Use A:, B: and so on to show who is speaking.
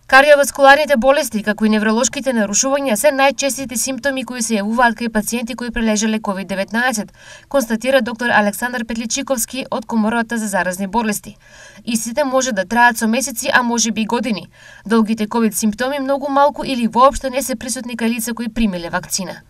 A: Кардиоваскуларните болести, како и невролошките нарушувања се најчестите симптоми кои се јавуваат кај пациенти кои прележале COVID-19, констатира доктор Александар Петличиковски од Комората за заразни болести. Истите може да траат со месеци, а можеби и години. Долгите COVID симптоми многу малку или воопшто не се присутни кај лица кои примиле вакцина.